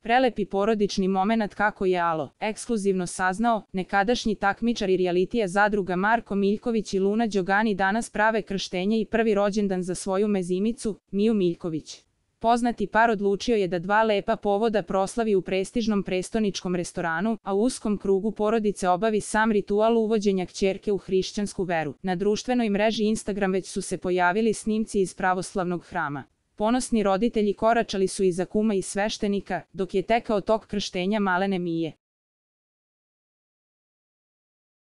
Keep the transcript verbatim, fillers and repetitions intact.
Prelepi porodični momenat kako je Alo ekskluzivno saznao, nekadašnji takmičari rijalitija Zadruga Marko Miljković i Luna Đogani danas prave krštenje i prvi rođendan za svoju mezimicu, Miju Miljković. Poznati par odlučio je da dva lepa povoda proslavi u prestižnom prestoničkom restoranu, a u uskom krugu porodice obavi sam ritual uvođenja kćerke u hrišćansku veru. Na društvenoj mreži Instagram već su se pojavili snimci iz pravoslavnog hrama. Ponosni roditelji koračali su iza kuma i sveštenika, dok je tekao tok krštenja malene Mije.